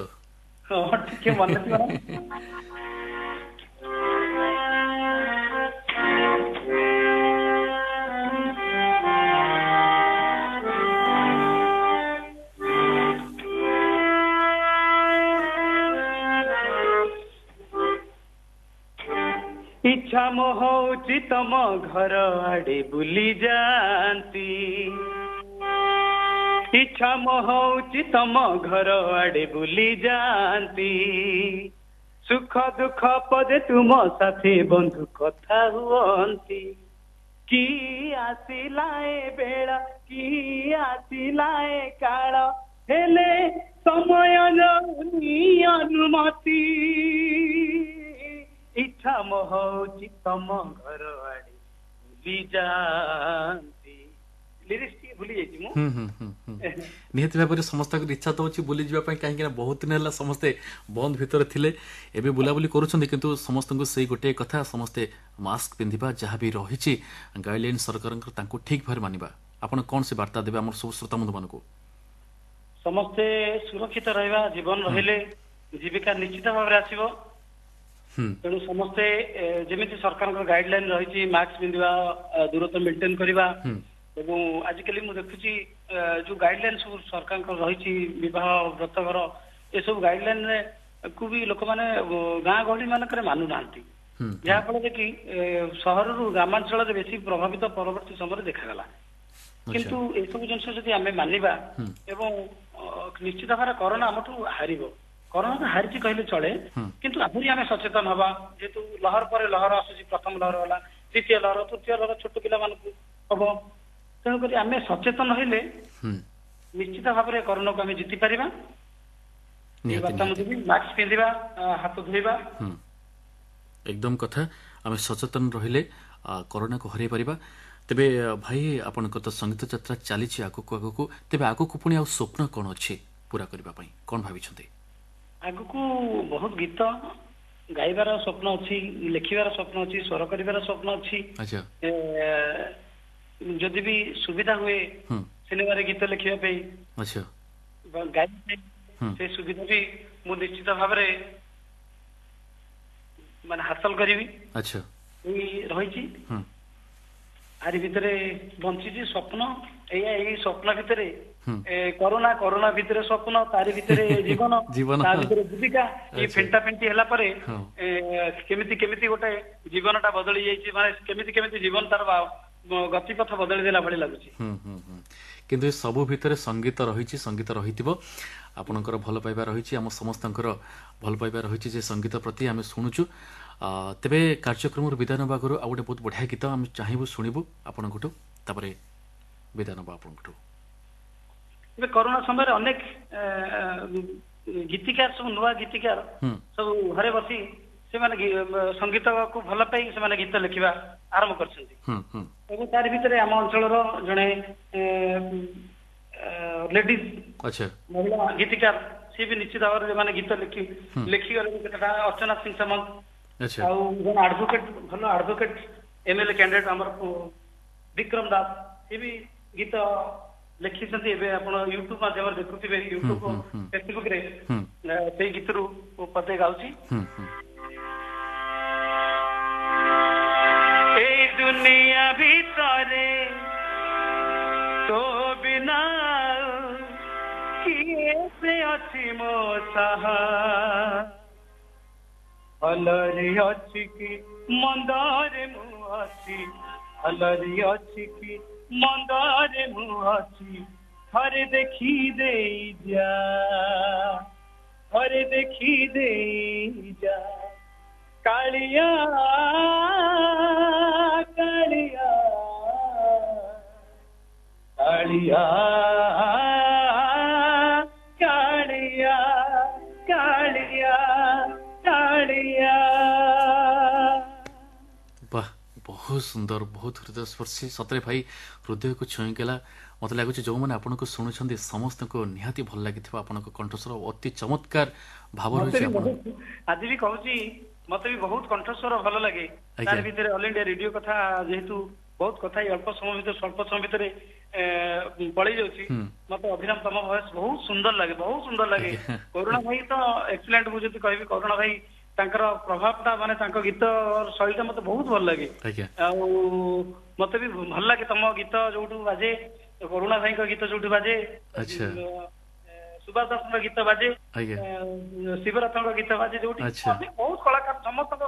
ହଁ, ଟିକେ ମନେ ଥିବ। ଇଚ୍ଛା ମୋ ହଉଛି ତମ ଘର ଆଡେ ବୁଲି ଯାଆନ୍ତି, ଇଚ୍ଛା ମୋ ହଉଛି ତମ ଘର ଆଡେ ବୁଲି ଯାଆନ୍ତି, ସୁଖ ଦୁଃଖ ପଦେ ତୁମ ସାଥୀ ବନ୍ଧୁ କଥା ହୁଅନ୍ତି। କି ଆସିଲା ଏ ବେଳ, କି ଆସିଲା ଏ କାଳ, ହେଲେ ସମୟ ଯାଉନି ଅନୁମତି, ଇଚ୍ଛା ମୋ ହଉଛି ତମ ଘର ଆଡେ ବୁଲି ଯାଆନ୍ତି। ଲିରିକ୍ସ ଟିକେ ଭୁଲି ଯାଇଛି ମୁଁ। ନିହାତି ଭାବରେ ସମସ୍ତଙ୍କର ଇଚ୍ଛା ତ ଅଛି ବୁଲିଯିବା ପାଇଁ, କାହିଁକି ନା ବହୁତ ଦିନ ହେଲା ସମସ୍ତେ ବନ୍ଦ ଭିତରେ ଥିଲେ, ଏବେ ବୁଲାବୁଲି କରୁଛନ୍ତି, କିନ୍ତୁ ସମସ୍ତଙ୍କୁ ସେଇ ଗୋଟିଏ କଥା, ସମସ୍ତେ ମାସ୍କ ପିନ୍ଧିବା, ଯାହା ବି ରହିଛି ଗାଇଡଲାଇନ ସରକାରଙ୍କର ତାଙ୍କୁ ଠିକ ଭାବରେ ମାନିବା। ଆପଣ କଣ ସେ ବାର୍ତ୍ତା ଦେବେ ଆମର ସବୁ ଶ୍ରୋତାବନ୍ଧୁମାନଙ୍କୁ? ସମସ୍ତେ ସୁରକ୍ଷିତ ରହିବା, ଜୀବନ ରହିଲେ ଜୀବିକା ନିଶ୍ଚିତ ଭାବରେ ଆସିବ। ତେଣୁ ସମସ୍ତେ ଯେମିତି ସରକାରଙ୍କ ଗାଇଡଲାଇନ ରହିଛି, ମାସ୍କ ପିନ୍ଧିବା, ଦୂରତ୍ୱ ମେଣ୍ଟେନ କରିବା, ଏବଂ ଆଜିକାଲି ମୁଁ ଦେଖୁଛି ଯୋଉ ଗାଇଡଲାଇନ ସବୁ ସରକାରଙ୍କର ରହିଛି ବିବାହ ବ୍ରତଘର ଏସବୁ ଗାଇଡଲାଇନ କୁ ବି ଲୋକମାନେ ଗାଁ ଗହଳି ମାନଙ୍କରେ ମାନୁନାହାନ୍ତି, ଯାହା ଫଳରେ କି ସହରରୁ ଗ୍ରାମାଞ୍ଚଳରେ ବେଶୀ ପ୍ରଭାବିତ ପରବର୍ତ୍ତୀ ସମୟରେ ଦେଖାଗଲା। କିନ୍ତୁ ଏସବୁ ଜିନିଷ ଯଦି ଆମେ ମାନିବା ଏବଂ ନିଶ୍ଚିତ ଭାବରେ କରୋନା ଆମଠୁ ହାରିବ। କରୋନା ତ ହାରିଛି କହିଲେ ଚଳେ, କିନ୍ତୁ ଆହୁରି ଆମେ ସଚେତନ ହବା। ଯେହେତୁ ଲହର ପରେ ଲହର ଆସୁଛି, ପ୍ରଥମ ଲହର ହେଲା, ଦ୍ୱିତୀୟ ଲହର, ତୃତୀୟ ଲହର ଛୋଟ ପିଲାମାନଙ୍କୁ ହବ। ତେଣୁକରି ଆମେ ସଚେତନ ହେଲେ ନିଶ୍ଚିତ ଭାବରେ କରୋନାକୁ ଆମେ ଜିତି ପାରିବା। ମାସ୍କ ପିନ୍ଧିବା, ହାତ ଧୋଇବା। ଏକଦମ କଥା, ଆମେ ସଚେତନ ରହିଲେ କରୋନାକୁ ହରାଇ ପାରିବା। ତେବେ ଭାଇ, ଆପଣଙ୍କର ତ ସଙ୍ଗୀତ ଯାତ୍ରା ଚାଲିଛି ଆଗକୁ ଆଗକୁ, ତେବେ ଆଗକୁ ପୁଣି ଆଉ ସ୍ୱପ୍ନ କଣ ଅଛି ପୁରା କରିବା ପାଇଁ, କଣ ଭାବିଛନ୍ତି? ଆଗକୁ ବହୁତ ଗୀତ ଗାଇବାର ସ୍ୱପ୍ନ ଅଛି, ଲେଖିବାର ସ୍ୱପ୍ନ ଅଛି, ସ୍ୱର କରିବାର ସ୍ୱପ୍ନ ଅଛି। ଯଦି ବି ସୁବିଧା ହୁଏ ସିନେମାରେ ଗୀତ ଲେଖିବା ପାଇଁ, ଗାଇବା ପାଇଁ, ସେ ସୁବିଧା ବି ମୁଁ ନିଶ୍ଚିତ ଭାବରେ ମାନେ ହାସଲ କରିବି। ଏଇ ରହିଛି ଆରି ଭିତରେ ବଞ୍ଚିଛି ସ୍ୱପ୍ନ। ଏଇଆ ଏଇ ସ୍ୱପ୍ନ ଭିତରେ କରୋନା, କରୋନା ଭିତରେ ସ୍ୱପ୍ନ, ତାରି ଭିତରେ ଜୀବନ, ତା ଭିତରେ ଜୀବିକା। ଏଇ ଫେଣ୍ଟା ଫେଣ୍ଟି ହେଲା ପରେ କେମିତି କେମିତି ଗୋଟେ ଜୀବନ ଟା ବଦଳି ଯାଇଛି, ମାନେ କେମିତି କେମିତି ଜୀବନ ତାର ଗତିପଥ ବଦଳି ଦେଲା ଭଳି ଲାଗୁଛି। କିନ୍ତୁ ଏ ସବୁ ଭିତରେ ସଙ୍ଗୀତ ରହିଛି, ସଙ୍ଗୀତ ରହିଥିବ, ଆପଣଙ୍କର ଭଲ ପାଇବା ରହିଛି, ଆମ ସମସ୍ତଙ୍କର ଭଲ ପାଇବା ରହିଛି ଯେ ସଙ୍ଗୀତ ପ୍ରତି ଆମେ ଶୁଣୁଛୁ। ତେବେ କାର୍ଯ୍ୟକ୍ରମରୁ ବିଦାୟ ନେବା ଆଗରୁ ଆଉ ଗୋଟେ ବହୁତ ବଢ଼ିଆ ଗୀତ ଆମେ ଚାହିଁବୁ ଶୁଣିବୁ ଆପଣଙ୍କଠୁ, ତାପରେ ବିଦାୟ ନେବା ଆପଣଙ୍କଠୁ। ଏବେ କରୋନା ସମୟରେ ଅନେକ ଗୀତିକାର, ସବୁ ନୂଆ ଗୀତିକାର ସବୁ ଘରେ ବସି ସେମାନେ ସଙ୍ଗୀତକୁ ଭଲ ପାଇ ସେମାନେ ଗୀତ ଲେଖିବା ଆରମ୍ଭ କରିଛନ୍ତି। ଏବଂ ତାରି ଭିତରେ ଆମ ଅଞ୍ଚଳର ଜଣେ ଲେଡିଜ ମହିଳା ଗୀତିକାର, ସିଏ ବି ନିଶ୍ଚିତ ଭାବରେ ମାନେ ଗୀତ ଲେଖି ଲେଖିଗଲେ କେତେଟା, ଅର୍ଚ୍ଚନା ସିଂ ସାମନ୍ତ, ଆଉ ଜଣେ ଆଡଭୋକେଟ, ଭଲ ଆଡଭୋକେଟ ଏମଏଲଏ କ୍ୟାଣ୍ଡିଡେଟ ଆମର ବିକ୍ରମ ଦାସ, ସିଏ ବି ଗୀତ ଲେଖିଛନ୍ତି। ଏବେ ଆପଣ ୟୁଟ୍ୟୁବ ମାଧ୍ୟମରେ ଦେଖୁଥିବେ, ୟୁଟ୍ୟୁବ ଫେସବୁକ ରେ ସେଇ ଗୀତରୁ ପଦେ ଗାଉଛି। କରେ, ତୋ ବିନା କିଏ ସେ ଅଛି ମୋ ସାହା। ଭଲରେ ଅଛି କି ମନ୍ଦରେ ମୁଁ ଅଛି, ଭଲରେ ଅଛି କି ମନ୍ଦରେ ମୁଁ ଅଛି, ଥରେ ଦେଖି ଦେଇ ଯା, ଥରେ ଦେଖି ଦେଇ ଯା। କାଳିଆ କାଳିଆ କାଳିଆ କାଳିଆ କାଳିଆ କାଳିଆ। ବାহ, ବହୁତ ସୁନ୍ଦର, ବହୁତ ହୃଦୟସ୍ପର୍ଶୀ। ସତରେ ଭାଇ, ହୃଦୟକୁ ଛୁଇଁଗଲା। ମୋତେ ଲାଗୁଛି ଯେଉଁମାନେ ଆପଣଙ୍କୁ ଶୁଣୁଛନ୍ତି ସମସ୍ତଙ୍କୁ ନିହାତି ଭଲ ଲାଗିଥିବ ଆପଣଙ୍କ କଣ୍ଠସ୍ୱର। ଅତି ଚମତ୍କାର ଭାବ ମତେ ରହିଛି ବି ଆପଣ। ବହୁତ, ଆଜି ବି କହୁଛି, ମତେ ବି ବହୁତ କଣ୍ଠସ୍ୱର ଭଲ ଲାଗେ। ତାର ଆଜ୍ଞା। ଭିତରେ ଅଲ ଇଣ୍ଡିଆ ରେଡିଓ କଥା ଯେହେତୁ ବହୁତ କଥା ଏଇ ଅଳ୍ପ ସମୟ ଭିତରେ, ସ୍ୱଳ୍ପ ସମୟ ଭିତରେ ପଳେଇ ଯାଉଛି। ମତେ ଅଭିରାମ ତମ ଭଏସ ବହୁତ ସୁନ୍ଦର ଲାଗେ, ବହୁତ ସୁନ୍ଦର ଲାଗେ। ଆଜ୍ଞା। କରୁଣା ଭାଇ ତ ଏକ୍ସଲେଣ୍ଟ। ମୁଁ ଯଦି କହିବି କରୁଣା ଭାଇ, ତାଙ୍କର ପ୍ରଭାବଟା ମାନେ ତାଙ୍କ ଗୀତ ଶୈଳୀଟା ମତେ ବହୁତ ଭଲ ଲାଗେ। ଆଜ୍ଞା। ଆଉ ମତେ ବି ଭଲ ଲାଗେ ତମ ଗୀତ ଯୋଉଠୁ ବାଜେ, କରୁଣା ଭାଇଙ୍କ ଗୀତ ଯୋଉଠୁ ବାଜେ, ଆଚ୍ଛା। ସୁଭାଷ ଦାସଙ୍କ ଗୀତ ବାଜେ, ଆଜ୍ଞା। ଶିବରାଥଙ୍କ ଗୀତ ବାଜେ ଯୋଉଠି, ଆଚ୍ଛା। ଅନେକ ବହୁତ କଳାକାର, ସମସ୍ତଙ୍କ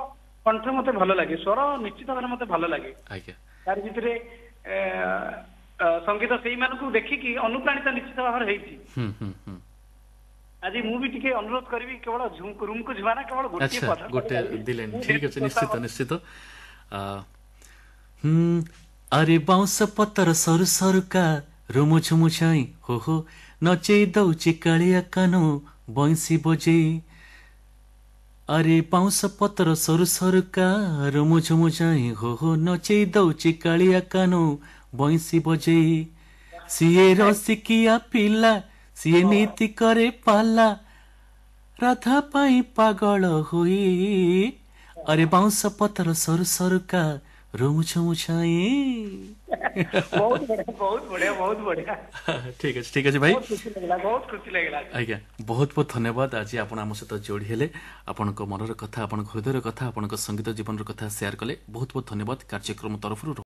କଣ୍ଠ ମତେ ଭଲ ଲାଗେ, ସ୍ୱର ନିଶ୍ଚିତ ଭାବରେ ମତେ ଭଲ ଲାଗେ। ଆଜ୍ଞା। ତାରି ଭିତରେ ସଙ୍ଗୀତ ସେଇମାନଙ୍କୁ ଦେଖିକି ଅନୁପ୍ରାଣିତ ନିଶ୍ଚିତ ଭାବରେ ହେଇଛି। ହୁଁ ହୁଁ ହୁଁ ଆଜି ମୁଁ ବି ଟିକେ ଅନୁରୋଧ କରିବି, କେବଳ ରୁମକୁ ଝୁମାନା କେବଳ ଗୋଟିଏ ଆଚ୍ଛା ପଦ ଗୋଟେ ଗାଇବି। ଦିଲେନ ମୁଁ ଠିକ ଯେହେତୁ ଅଛି, ଶ୍ରୋତା ନିଶ୍ଚିତ ନିଶ୍ଚିତ। ଆ, ହୁଁ ଆରେ ବାଉଁଶ ପତର ସରୁ ସରୁକା ରୁମୁ ଝୁମୁ ଛାଇ ହୋ ହୋ, ନଚେଇ ଦଉଛି କାଳିଆ କାନୁ ବଇଁଶୀ ବଜେଇ। ଆରେ ବାଉଁଶ ପତର ସରୁ ସରୁକା ରୁମୁ ଝୁମୁ ଛାଇ ହୋ ହୋ, ନଚେଇ ଦଉଛି କାଳିଆ କାନୁ ବଇଁଶୀ ବଜେଇ। ସିଏ ରସିକିଆ ପିଲା, ସିଏ ନୀତି କରେ ପାଲା, ରାଧା ପାଇଁ ପାଗଳ ହୋଇ। ଆରେ ବାଉଁଶ ପତର ସରୁ ସରୁକା ରୁମୁ ଝୁମୁ ଛାଇ। ବହୁତ ବଢିଆ, ବହୁତ ବଢିଆ, ବହୁତ ବଢିଆ। ଠିକ ଅଛି, ଠିକ ଅଛି ଭାଇ। ବହୁତ ଖୁସି ଲାଗିଲା, ବହୁତ ଖୁସି ଲାଗିଲା। ଆଜ୍ଞା, ବହୁତ ବହୁତ ଧନ୍ୟବାଦ। ଆଜି ଆପଣ ଆମ ସହିତ ଯୋଡ଼ି ହେଲେ, ଆପଣଙ୍କ ମନର କଥା, ଆପଣଙ୍କ ହୃଦୟର କଥା, ଆପଣଙ୍କ ସଙ୍ଗୀତ ଜୀବନର କଥା ସେୟାର କଲେ। ବହୁତ ବହୁତ ଧନ୍ୟବାଦ କାର୍ଯ୍ୟକ୍ରମ ତରଫରୁ।